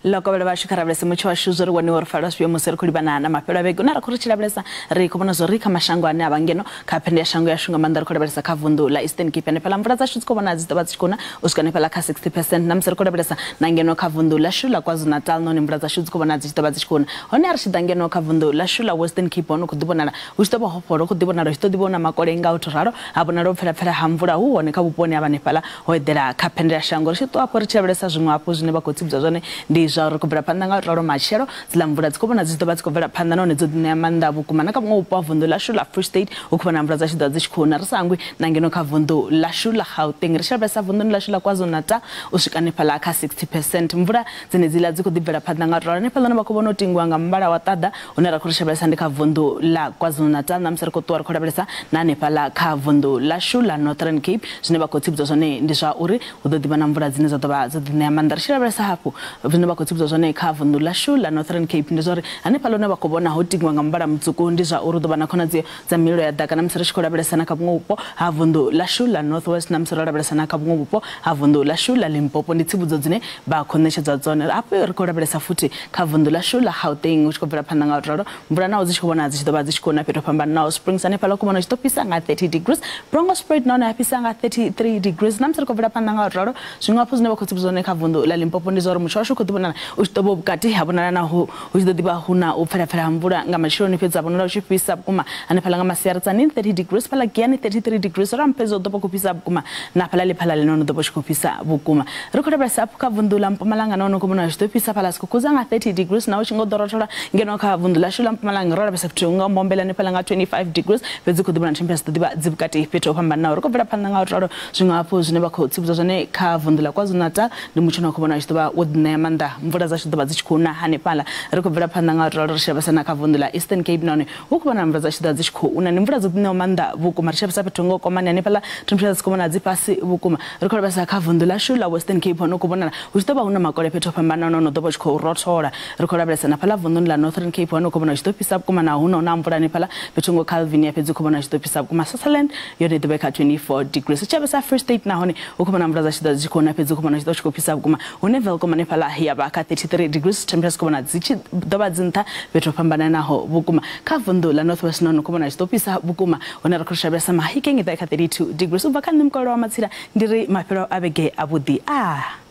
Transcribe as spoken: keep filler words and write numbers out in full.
Lokovhela vhashu kha lavhelese mutsho washu zwo ri woniwa uri fala zwifhio musi ri khou livhana na mafhelo a vhege. Na ri khou ri tshi lavhelesa ri khou vhona zwo ri kha mashango ane a vha ngeno kha phende ya shango yashu nga maanḓa ri khou lavhelesa kha vunḓu ḽa Eastern Cape hanefhaḽa mvula dzashu dzi khou vhona dzi ḓovha dzi tshi khou na u swika hanefhaḽa kha sixty percent. Na musi ri khou lavhelesa na ngeno kha vunḓu ḽashu ḽa KwaZulu-Natal nahone mvula dzashu dzi khou vhona dzi tshi ḓovha dzi tshi khou na. Hone a ri tshi ḓa ngeno kha vunḓu ḽashu ḽa Western Cape hone khou ḓi vhonala hu tshi ḓo vha ho fhola, hu khou ḓi vhonala hu tshi ḓo ḓi vhona makole nga u tou ralo, ha vhonala u pfela pfela ha mvula hu hone kha vhuponi ha hanefhaḽa ho eḓela kha phende ya shango. Ri tshi ṱuwa afho ri tshi lavhelesa zwiṅwe hafhu zwine vha khou tsivhudza zwone ndi zwa uri khou bvela phanḓa nga ralo matshelo dziḽa mvula dzi khou vhona dzi ḓo vha dzi khou bvela phanḓa nahone dzo ḓi ṋea maanḓa vhukuma. Na kha vhuṅwe vhupo ha vunḓu ḽashu ḽa Free State hu khou vhona mvula dzashu ḓo dzi tshi khou na, ri sa hangwi na ngeno kha vunḓu ḽashu ḽa Gauteng. Ri tshi lavhelesa vunḓuni ḽashu ḽa KwaZulu-Natal u swika hanefhaḽa kha sixty percent mvula dzenedziḽa dzi khou ḓi bvela phanḓa nga ralo. Hanefhaḽa hune vha khou vhona u tingiwa nga muvhala wa ṱaḓa hune ra khou ri lavhelesa ndi kha vunḓu ḽa KwaZulu-Natal. Na musi ri khou ṱuwa ri khou lavhelesa na hanefhaḽa kha vunḓu ḽashu ḽa Northern Cape zwine vha khou tsivhudza zwone ndi zwa uri hu ḓo ḓivha na mvula dzine dza ḓo vha dzo ḓi ṋea maanḓa. Ri tshi lavhelesa hafhu zwine vha khou tsivhudza zwone kha vunḓu ḽashu ḽa Northern Cape ndi zwa uri hanefhaḽa hune vha khou vhona ho tingiwa nga muvhala mutswuku ndi zwa uri hu ḓo vha na khonadzeo dza mililo ya ḓaka. Na musi ri tshi khou lavhelesa na kha vhuṅwe vhupo ha vunḓu ḽashu ḽa North West, na musi ro lavhelesa na kha vhuṅwe vhupo ha vunḓu ḽashu ḽa Limpopo ndi tsivhudzo dzine vha khou ṋetshedza dzone. Hafhu ri khou lavhelesa futhi kha vunḓu ḽashu ḽa Gauteng hu tshi khou bvela phanḓa nga u ralo mvula naho dzi tshi khou vhona dzi tshi ḓo vha dzi tshi khou na fhethu ho fhambananaho. Springs hanefhaḽa khou vhona hu tshi ḓo fhisa nga thirty degrees, Bronkhorstspruit nahone ha fhisa nga thirty-three degrees. Na musi ri khou bvela phanḓa nga u ralo zwiṅwe hafhu zwine vha khou tsivhudza zwone kha vunḓu ḽa Limpopo ndi zwa uri mutsho washu u khou ḓi vhonala u tshi ḓo vha vhukati ha vhonala naho hu tshi ḓo ḓivha hu na u pfela pfela ha mvula nga matsheloni, fhedzi ha vhonala hu tshi fhisa vhukuma hanefhaḽa nga masiari Tzaneen thirty degrees, fhaḽa Giyani thirty-three degrees, Ramphedzo ḓo vha khou fhisa vhukuma na fhaḽa Lephalale nahone ḓo vha tshi khou fhisa vhukuma. Ri khou lavhelesa hafhu kha vunḓu ḽa Mpumalanga nahone khou vhona zwi ḓo fhisa fhaḽa Skukuza nga thirty degrees, naho tshi ngo ḓo rothola ngeno kha vunḓu ḽashu ḽa Mpumalanga ro lavhelesa fhethu nga Mbombela hanefhaḽa nga twenty-five degrees, fhedzi khou ḓi vhona temperature ḓo ḓivha dzi vhukati fhethu ho fhambananaho. Ri khou bvela phanḓa nga u ralo zwiṅwe hafhu zwine vha khou tsivhudza zwone kha vunḓu ḽa KwaZulu-Natal ndi mutsho une khou vhona tshi ḓo vha wo ḓi ṋea maanḓa, mvula dzashu ḓo vha dzi tshi khou na hanefhaḽa. Ri khou bvela phanḓa nga u ralo ri tshi lavhelesa na kha vunḓu ḽa Eastern Cape nahone hu khou vhona mvula dzashu ḓo vha dzi tshi khou na, ndi mvula dzo ḓi ṋeaho maanḓa vhukuma. Ri tshi lavhelesa fhethu ngo Komani hanefhaḽa temperature dzi khou vhona dzi fhasi vhukuma. Ri khou lavhelesa kha vunḓu ḽashu ḽa Western Cape hone khou vhonala hu tshi ḓo vha hu na makole fhethu ho fhambananaho no ḓo vha tshi khou rothola. Ri khou lavhelesa na fhaḽa vunḓuni ḽa Northern Cape hone khou vhona tshi ḓo fhisa vhukuma na hu na na mvula hanefhaḽa fhethu ngo Calvinia, fhedzi khou vhona tshi ḓo fhisa vhukuma. Sutherland yone ḓo vha kha twenty-four degrees. Tshi lavhelesa Free State nahone hu khou vhona mvula dza tshi ḓo dzi khou na, fhedzi khou vhona tshi ḓo tshi khou fhisa vhukuma. Hune Welkom hanefhaḽa ya vha kha thirty-three degrees, temperature khou vhona dzi tshi ḓo vha dzi nṱha fhethu ho fhambananaho vhukuma. Kha vunḓu ḽa North West nahone khou vhona tshi ḓo fhisa vhukuma, hune ri khou lavhelesa Mahikeng i ḓo kha thirty-two degrees. U bva kha nṋe Mukololo wa Matsila ndi ri mafhelo a vhege avhuḓi. Ah.